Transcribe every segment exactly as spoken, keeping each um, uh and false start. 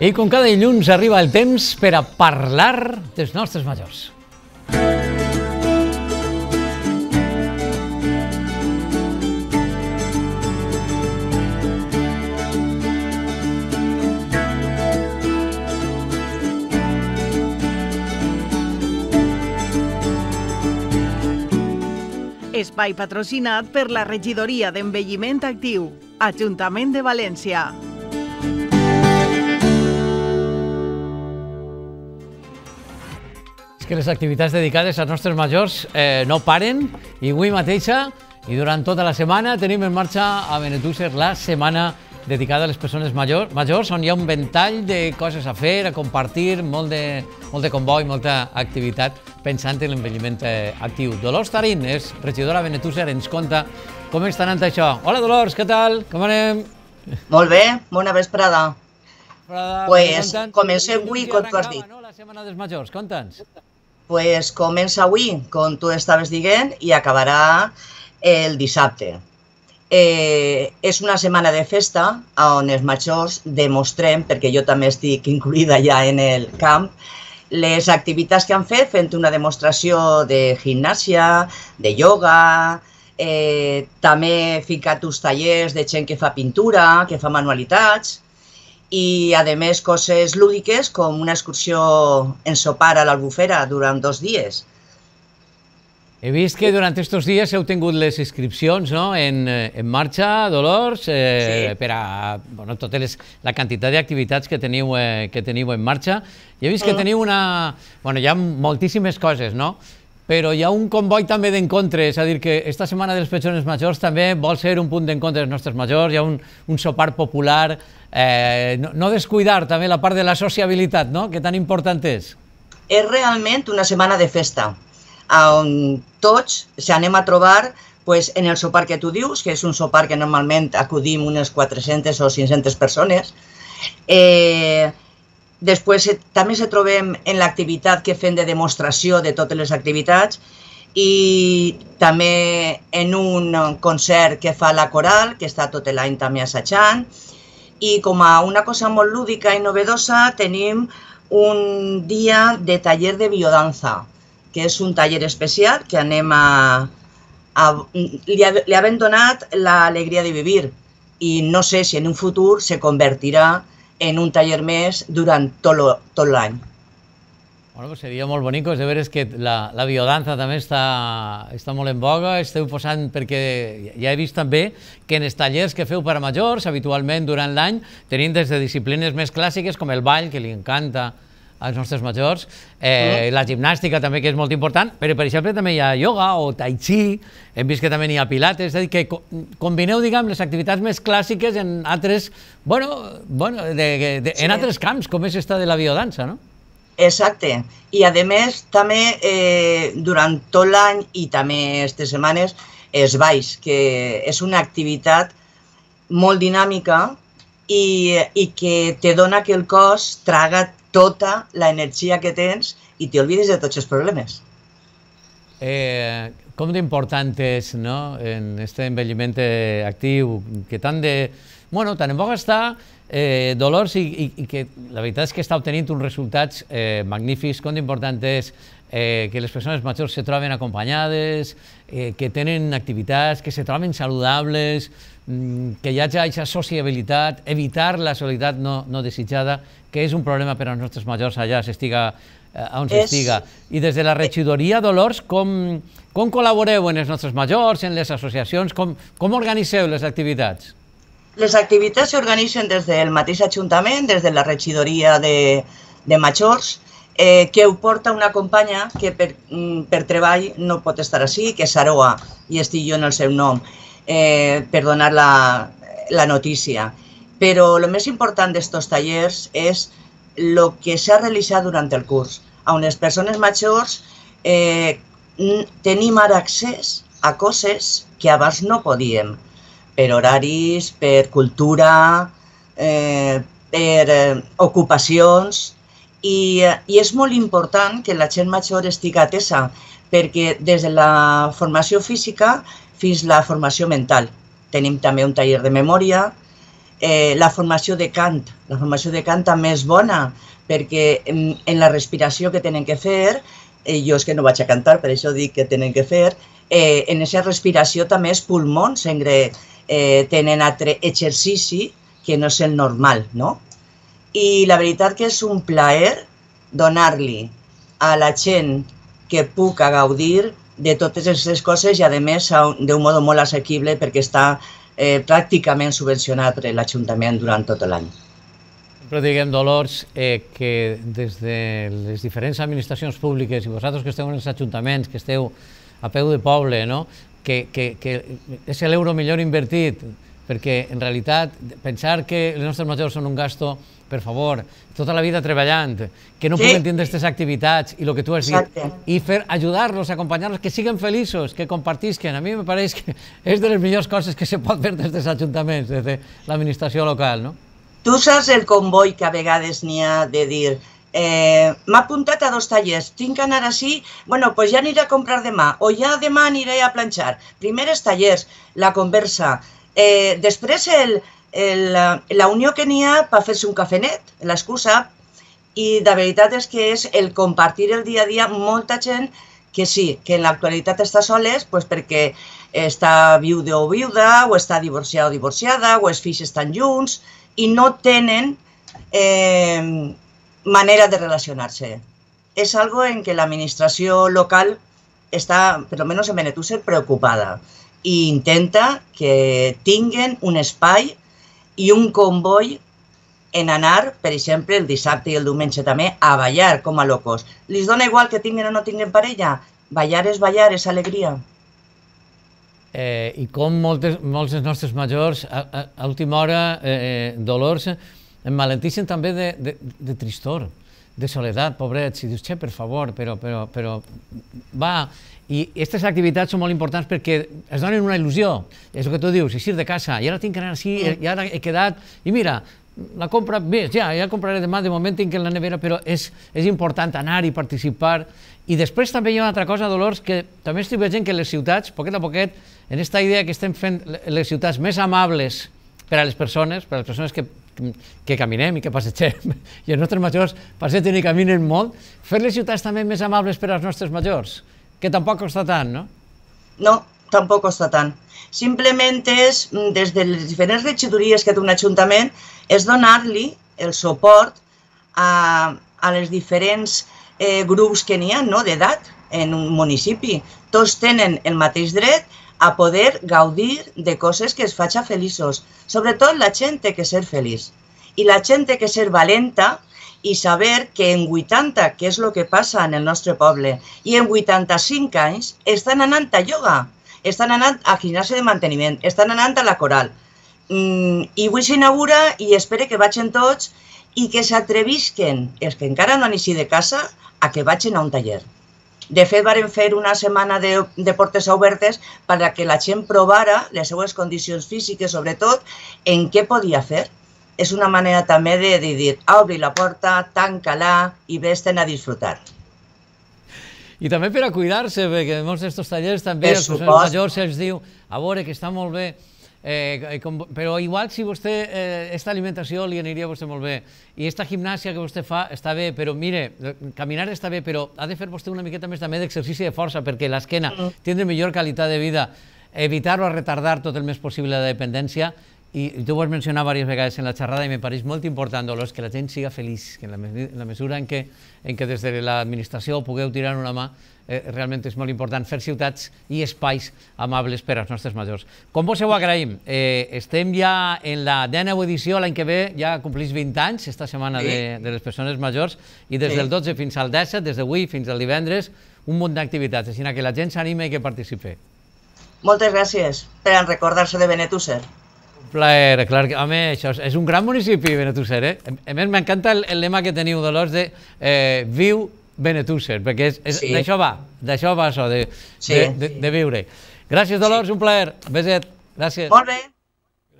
I com cada dilluns arriba el temps per a parlar dels nostres majors. Espai patrocinat per la Regidoria d'Envelliment Actiu, Ajuntament de València. És que les activitats dedicades als nostres majors eh, no paren i avui mateixa i durant tota la setmana tenim en marxa a Benetússer la setmana dedicada a les persones major, majors, on hi ha un ventall de coses a fer, a compartir, molt de, molt de comboi, molta activitat pensant en l'envelliment eh, actiu. Dolors Tarín és regidora a Benetússer, ens conta com està anant això. Hola Dolors, què tal? Com anem? Molt bé, bona vesprada. Vesprada, pues comencem avui, com tu has dit. No? La setmana dels majors, conta'ns. Pues comença avui, com tu estaves dient, i acabarà el dissabte. Eh, és una setmana de festa on els majors demostrem, perquè jo també estic incluïda ja en el camp, les activitats que han fet fent una demostració de gimnàsia, de ioga, eh, també ficat uns tallers de gent que fa pintura, que fa manualitats i, a més, coses lúdiques com una excursió en sopar a l'Albufera durant dos dies. He vist que durant aquests dies heu tingut les inscripcions no? en, en marxa, Dolors, eh, sí. per a bueno, tota les, la quantitat d'activitats que, teniu, eh, que teniu en marxa. I he vist que teniu una... Bueno, hi ha moltíssimes coses, no? Però hi ha un comboi també d'encontre, és a dir, que esta setmana de les persones majors també vol ser un punt d'encontre dels nostres majors, hi ha un, un sopar popular, eh, no, no descuidar també la part de la sociabilitat, no? Que tan important és. És realment una setmana de festa, on tots s'anem a trobar pues, en el sopar que tu dius, que és un sopar que normalment acudim unes quatre-centes o cinc-centes persones. Eh, després eh, també se trobem en l'activitat que fem de demostració de totes les activitats i també en un concert que fa la coral, que està tot l'any també assajant. I com a una cosa molt lúdica i novedosa tenim un dia de taller de biodanza, que és un taller especial que anem a... a li, ha, li havem donat l'alegria de vivir i no sé si en un futur se convertirà en un taller més durant tot, tot l'any. Bueno, pues seria molt bonic, de veres que la, la biodanza també està, està molt en boga, esteu posant, perquè ja he vist també que en els tallers que feu per a majors, habitualment durant l'any, tenim des de disciplines més clàssiques com el ball, que li encanta als nostres majors, eh, la gimnàstica també, que és molt important, però per exemple també hi ha ioga o tai chi, hem vist que també hi ha pilates, és a dir, que combineu, diguem, les activitats més clàssiques en altres, bueno, bueno de, de, en altres camps, com és esta de la biodança, no? Exacte, i a més també eh, durant tot l'any i també aquestes setmanes els balls, que és una activitat molt dinàmica i, i que te dona que el cos traga tota l'energia que tens i t'olvides de tots els problemes. Eh, com d'important és, no?, en aquest envelliment actiu, que tant de... Bueno, tant en boga està, eh, Dolors, i, i, i que la veritat és que està obtenint uns resultats eh, magnífics. Com d'important és eh, que les persones majors se troben acompanyades, eh, que tenen activitats, que se troben saludables, que hi hagi aquesta sociabilitat, evitar la solidaritat no, no desitjada, que és un problema per als nostres majors allà s'estiga eh, on s'estiga. I des de la regidoria, Dolors, com, com col·laboreu en els nostres majors, en les associacions, com, com organitzeu les activitats? Les activitats s'organitzen des del mateix Ajuntament, des de la regidoria de, de majors, eh, que ho porta una companya que per, per treball no pot estar així, que és Aroa, i estic jo en el seu nom. Eh, per donar la, la notícia. Però el més important d'aquests tallers és el que s'ha realitzat durant el curs, on les persones majors eh, tenim ara accés a coses que abans no podíem, per horaris, per cultura, eh, per eh, ocupacions, i, i és molt important que la gent major estigui atesa, perquè des de la formació física fins la formació mental. Tenim també un taller de memòria, Eh, la formació de cant, la formació de cant també és bona, perquè en, en la respiració que tenen que fer, eh, jo és que no vaig a cantar, per això dic que tenen que fer, eh, en aquesta respiració també els pulmons eh, tenen altre exercici que no és el normal, no? I la veritat que és un plaer donar-li a la gent que puc gaudir de totes aquestes coses i, a més, d'un mode molt assequible perquè està eh, pràcticament subvencionat per l'Ajuntament durant tot l'any. Sempre diguem, Dolors, eh, que des de les diferents administracions públiques i vosaltres que esteu en els ajuntaments, que esteu a peu de poble, no? que, que, que és l'euro millor invertit, perquè en realitat pensar que els nostres majors són un gasto, per favor, tota la vida treballant, que no sí. Puguin tindre aquestes activitats i el que tu has dit, exacte. I fer ajudar-los, acompanyar-los, que siguin feliços, que compartisquen. A mi me pareix que és de les millors coses que se pot fer des dels ajuntaments, des de l'administració local, no? Tu saps el comboi que a vegades n'hi ha de dir eh, m'ha apuntat a dos tallers, tinc que anar així, bueno, doncs ja aniré a comprar demà, o ja demà aniré a planxar. Primer els tallers, la conversa, eh, després el, el, la unió que n'hi ha per fer-se un cafenet, l'excusa, i de veritat és que és el compartir el dia a dia, molta gent que sí, que en l'actualitat està soles pues perquè està viuda o viuda, o està divorciada o divorciada, o els fills estan junts, i no tenen eh, manera de relacionar-se. És algo en què l'administració local està, per almenys en Benetússer, preocupada i intenta que tinguen un espai i un comboi en anar, per exemple, el dissabte i el diumenge també, a ballar com a locos. Li dona igual que tinguin o no tinguin parella? Ballar és ballar, és alegria. Eh, I com moltes, molts dels nostres majors, a, a, a última hora, eh, Dolors, emmalenteixen també de, de, de tristor, de soledat, pobrets, i dius, che, per favor, però, però, però, va, i aquestes activitats són molt importants perquè es donen una il·lusió, és el que tu dius, eixir de casa, i ara tinc que anar així, i ara he quedat, i mira, la compra, bé, ja, ja compraré demà, de moment tinc en la nevera, però és, és important anar i participar. I després també hi ha una altra cosa, Dolors, que també estic veient que les ciutats, poquet a poquet, en aquesta idea que estem fent les ciutats més amables per a les persones, per a les persones que, que caminem i que passegem, i els nostres majors passegen i caminen molt, fer les ciutats també més amables per als nostres majors, que tampoc costa tant, no? No, tampoc costa tant. Simplement és, des de les diferents regidories que té un ajuntament, és donar-li el suport a, a les diferents eh, grups que n'hi ha, no?, d'edat en un municipi. Tots tenen el mateix dret a poder gaudir de coses que es facin feliços. Sobretot la gent té que ser feliç. I la gent té que ser valenta i saber que en vuitanta, que és el que passa en el nostre poble, i en vuitanta-cinc anys estan anant a ioga, estan anant a gimnàsia de manteniment, estan anant a la coral. Mm, I avui s'inaugura i espero que vagin tots i que s'atrevisquen, els que encara no han eixit de casa, a que vagin a un taller. De fet, varen fer una setmana de, de portes obertes perquè la gent provara les seues condicions físiques, sobretot, en què podia fer. És una manera també de, de dir, obri la porta, tanca-la i vés-te'n a disfrutar. I també per a cuidar-se, perquè en molts d'aquests tallers també els majors se'ls diu, a veure, que està molt bé, eh, com, però igual si vostè, eh, esta alimentació li aniria a vostè molt bé, i esta gimnàsia que vostè fa està bé, però mire, caminar està bé, però ha de fer vostè una miqueta més també d'exercici de força, perquè l'esquena mm. tindre millor qualitat de vida, evitar o retardar tot el més possible la dependència. I tu ho has mencionat diverses vegades en la xerrada i me pareix molt important, Dolors, que la gent siga feliç, que en la mesura en què des de l'administració pugueu tirar una mà, realment és molt important fer ciutats i espais amables per als nostres majors. Com vos ho agraïm, estem ja en la dèneu edició, l'any que ve ja complís vint anys, esta setmana de les persones majors, i des del dotze fins al disset, des d'avui fins al divendres, un munt d'activitats, així que la gent s'anima i que participi. Moltes gràcies per recordar-se de Benetússer. Plaer, clar, home, això és un gran municipi, Benetússer, eh? A més, m'encanta el lema que teniu, Dolors, de viu Benetússer, perquè d'això va, d'això va això, de viure. Gràcies, Dolors, un plaer. Beset, gràcies. Molt bé.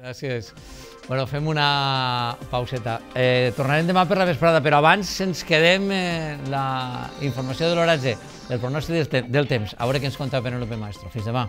Gràcies. Bueno, fem una pauseta. Tornarem demà per la vesprada, però abans ens quedem la informació de l'oratge, del pronòstic del temps. A veure què ens conta Penélope Maestro. Fins demà.